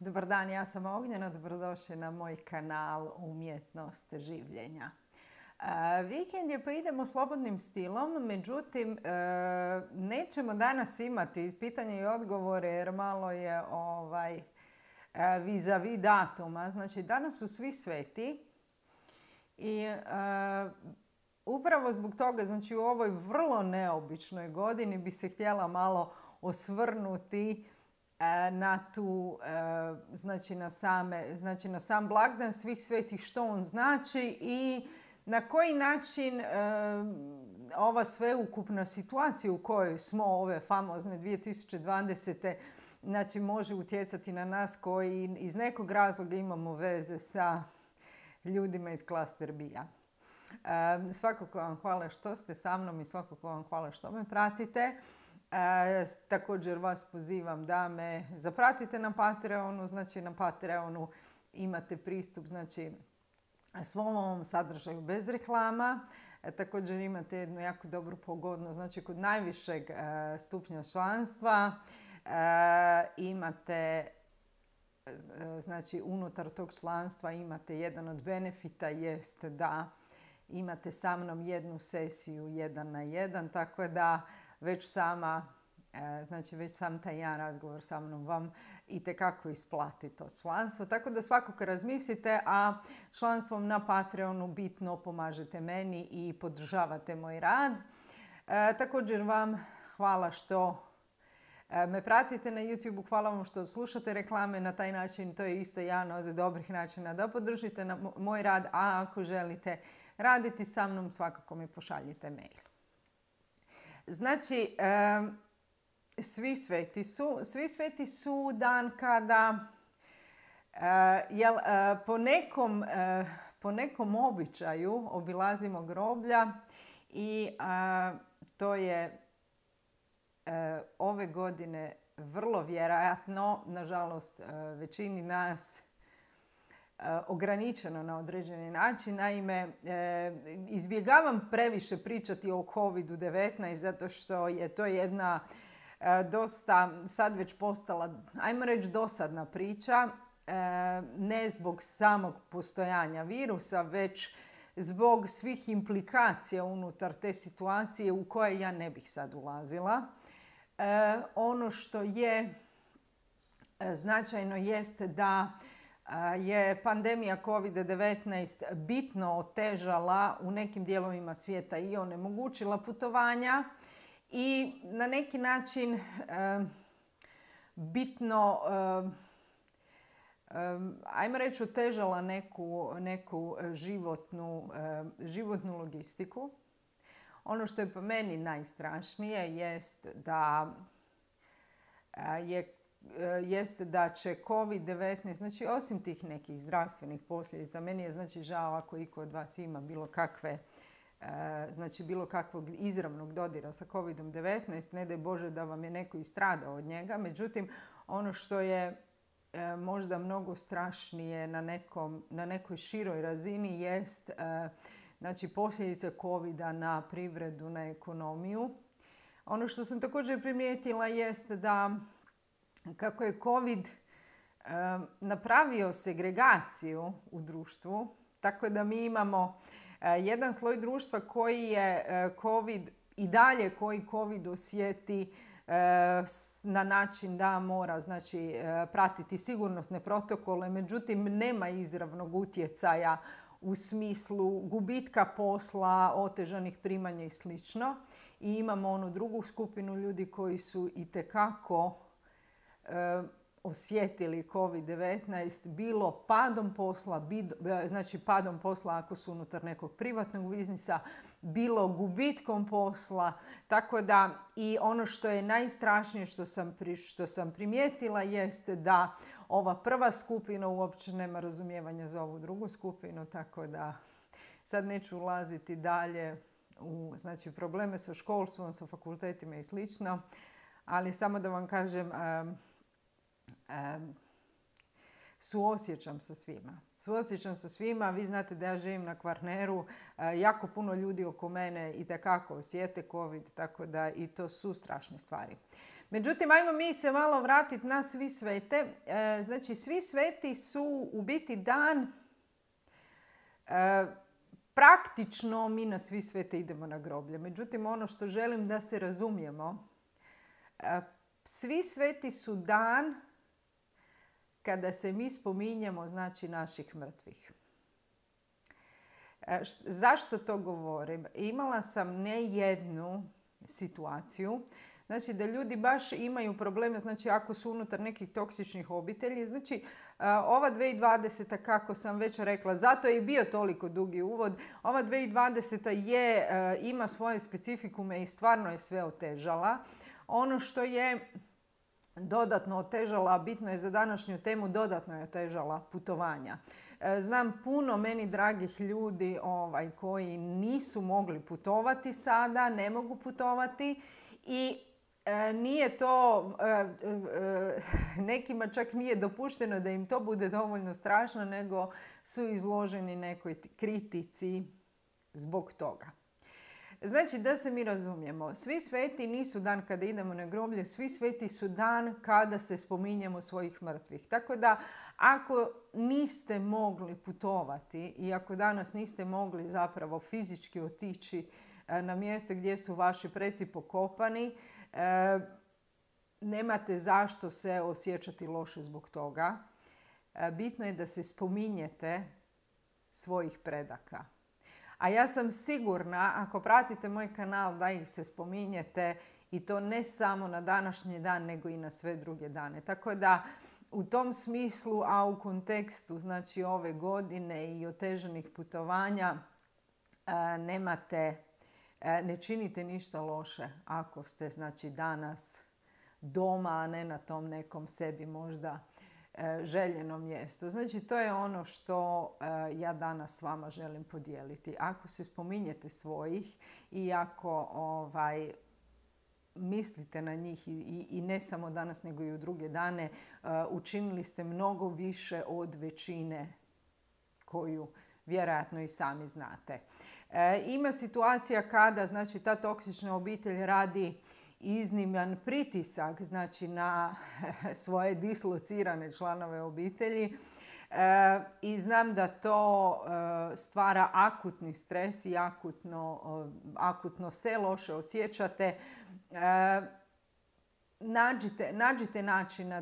Dobar dan, ja sam Ognjena, dobrodošli na moj kanal Umjetnost življenja. Vikend je pa idemo slobodnim stilom, međutim nećemo danas imati pitanje i odgovore jer malo je vis-a-vis datuma. Znači danas su svi sveti i upravo zbog toga, znači u ovoj vrlo neobičnoj godini bi se htjela malo osvrnuti na tu, znači na sam blagdan svih svetih, što on znači i na koji način ova sveukupna situacija u kojoj smo ove famozne 2020. Znači može utjecati na nas koji iz nekog razloga imamo veze sa ljudima iz klaster B-a. Svakako vam hvala što ste sa mnom i svakako vam hvala što me pratite. Također vas pozivam da me zapratite na Patreonu. Znači na Patreonu imate pristup svom ovom sadržaju bez reklama. Također imate jednu jako dobru pogodnost. Znači kod najvišeg stupnja članstva imate, znači unutar tog članstva imate jedan od benefita jest da imate sa mnom jednu sesiju 1 na 1, tako da već sam taj jedan razgovor sa mnom vam itekako isplati to članstvo. Tako da svakako razmislite, a članstvom na Patreonu bitno pomažete meni i podržavate moj rad. Također vam hvala što me pratite na YouTube, hvala vam što slušate reklame na taj način. To je isto jedan od dobrih načina da podržite moj rad, a ako želite raditi sa mnom, svakako mi pošaljite mail. Znači, svi sveti su dan kada po nekom običaju obilazimo groblja i to je ove godine vrlo vjerojatno, nažalost većini nas, ograničeno na određeni način. Naime, izbjegavam previše pričati o COVID-19 zato što je to jedna dosta sad već postala, ajmo reći, dosadna priča. Ne zbog samog postojanja virusa, već zbog svih implikacija unutar te situacije u koje ja ne bih sad ulazila. Ono što je značajno jeste da je pandemija COVID-19 bitno otežala u nekim dijelovima svijeta i onemogućila putovanja i na neki način bitno, ajmo reći, otežala neku životnu logistiku. Ono što je po meni najstrašnije jeste da će COVID-19, znači osim tih nekih zdravstvenih posljedica, meni je znači žao ako iko od vas ima bilo kakvog izravnog dodira sa COVID-19, ne daj Bože da vam je neko i stradao od njega. Međutim, ono što je možda mnogo strašnije na nekoj široj razini jest znači posljedice COVID-a na privredu, na ekonomiju. Ono što sam također primijetila jest da kako je COVID napravio segregaciju u društvu, tako da mi imamo jedan sloj društva koji je koji COVID osjeti na način da mora pratiti sigurnosne protokole, međutim nema izravnog utjecaja u smislu gubitka posla, otežanih primanja i sl. I imamo onu drugu skupinu ljudi koji su itekako osjetili COVID-19, bilo padom posla ako su unutar nekog privatnog biznisa, bilo gubitkom posla. Tako da i ono što je najstrašnije što sam primijetila jeste da ova prva skupina uopće nema razumijevanja za ovu drugu skupinu, tako da sad neću ulaziti dalje u probleme sa školstvom, sa fakultetima i slično, ali samo da vam kažem, suosjećam sa svima. Suosjećam sa svima. Vi znate da ja živim na Kvarneru. Jako puno ljudi oko mene itekako osjete COVID, tako da i to su strašne stvari. Međutim, ajmo mi se malo vratiti na Svi svete. Znači, Svi sveti su u biti dan, praktično mi na Svi svete idemo na groblje. Međutim, ono što želim da se razumijemo, Svi sveti su dan kada se mi spominjemo, znači, naših mrtvih. Zašto to govorim? Imala sam ne jednu situaciju, znači da ljudi baš imaju probleme, znači ako su unutar nekih toksičnih obitelji. Znači, ova 2020. kako sam već rekla, zato je i bio toliko dugi uvod, ova 2020. Ima svoje specifikume i stvarno je sve otežala. Ono što je dodatno otežala, bitno je za današnju temu, dodatno je otežala putovanja. Znam puno meni dragih ljudi koji nisu mogli putovati sada, ne mogu putovati i nije to, nekima čak nije dopušteno da im to bude dovoljno strašno, nego su izloženi nekoj kritici zbog toga. Znači, da se mi razumijemo, Svi sveti nisu dan kada idemo na groblje, Svi sveti su dan kada se spominjemo svojih mrtvih. Tako da, ako niste mogli putovati i ako danas niste mogli zapravo fizički otići na mjesto gdje su vaši preci pokopani, nemate zašto se osjećati loše zbog toga. Bitno je da se spominjete svojih predaka. A ja sam sigurna, ako pratite moj kanal, da ih se spominjete i to ne samo na današnji dan, nego i na sve druge dane. Tako da, u tom smislu, a u kontekstu, znači, ove godine i otežanih putovanja, ne činite ništa loše ako ste, znači, danas doma, a ne na tom nekom sebi možda željenom mjestu. Znači, to je ono što ja danas s vama želim podijeliti. Ako se spominjete svojih i ako mislite na njih i ne samo danas, nego i u druge dane, učinili ste mnogo više od većine koju vjerojatno i sami znate. Ima situacija kada, znači, ta toksična obitelj radi izniman pritisak, znači, na svoje dislocirane članove obitelji i znam da to stvara akutni stres i akutno se loše osjećate. Nađite načina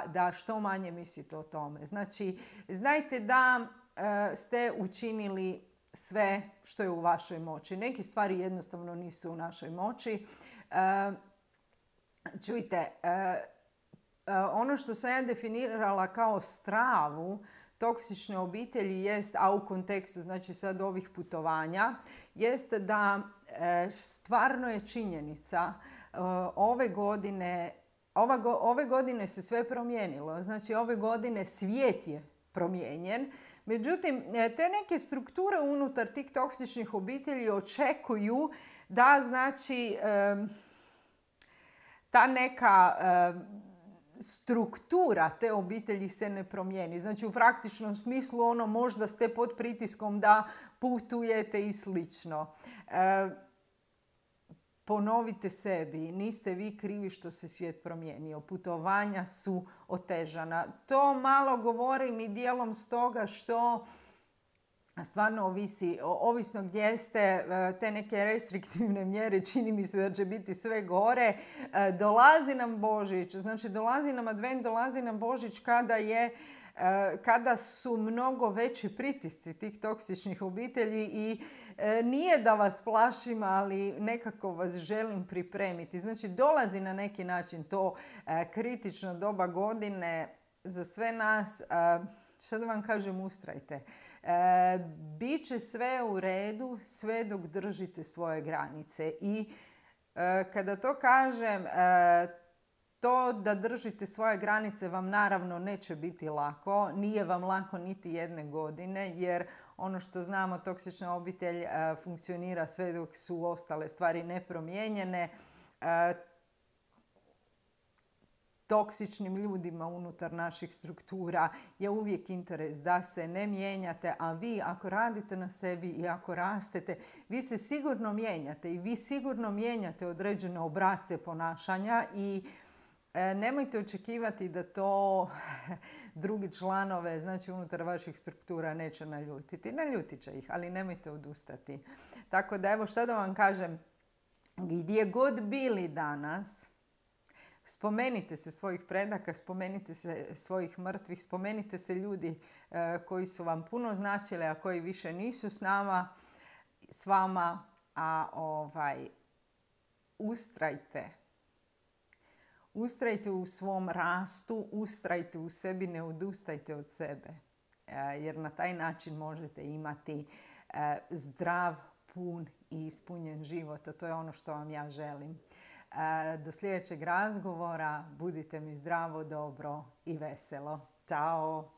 da što manje mislite o tome. Znači, znajte da ste učinili sve što je u vašoj moći. Neke stvari jednostavno nisu u našoj moći. Čujte, ono što sam ja definirala kao stravu toksične obitelji jest, a u kontekstu, znači, sad ovih putovanja, jeste da stvarno je činjenica ove godine se sve promijenilo. Znači, ove godine svijet je promijenjen. Međutim, te neke strukture unutar tih toksičnih obitelji očekuju da, znači, ta neka struktura te obitelji se ne promijeni. Znači, u praktičnom smislu, možda ste pod pritiskom da putujete i slično. Ponovite sebi, niste vi krivi što se svijet promijenio. Putovanja su otežana. To malo govorim i dijelom stoga što stvarno ovisi, ovisno gdje ste, te neke restriktivne mjere, čini mi se da će biti sve gore. Dolazi nam Božić, znači dolazi nam Advent, dolazi nam Božić kada su mnogo veći pritisci tih toksičnih obitelji i nije da vas plašim, ali nekako vas želim pripremiti. Znači, dolazi na neki način to kritično doba godine za sve nas. Što da vam kažem, ustrajte. Biće sve u redu sve dok držite svoje granice. I kada to kažem, to da držite svoje granice vam naravno neće biti lako. Nije vam lako niti jedne godine, jer ono što znamo, toksična obitelj funkcionira sve dok su ostale stvari nepromijenjene. toksičnim ljudima unutar naših struktura je uvijek interes da se ne mijenjate, a vi ako radite na sebi i ako rastete, vi se sigurno mijenjate i vi sigurno mijenjate određene obrasce ponašanja i nemojte očekivati da to drugi članove, znači unutar vaših struktura, neće naljutiti. Naljutit će ih, ali nemojte odustati. Tako da evo šta da vam kažem, gdje god bili danas, spomenite se svojih predaka, spomenite se svojih mrtvih, spomenite se ljudi koji su vam puno značili, a koji više nisu s vama, a ustrajte. Ustrajte u svom rastu, ustrajte u sebi, ne odustajte od sebe. Jer na taj način možete imati zdrav, pun i ispunjen život. A to je ono što vam ja želim. Do sljedećeg razgovora. Budite mi zdravo, dobro i veselo. Ćao!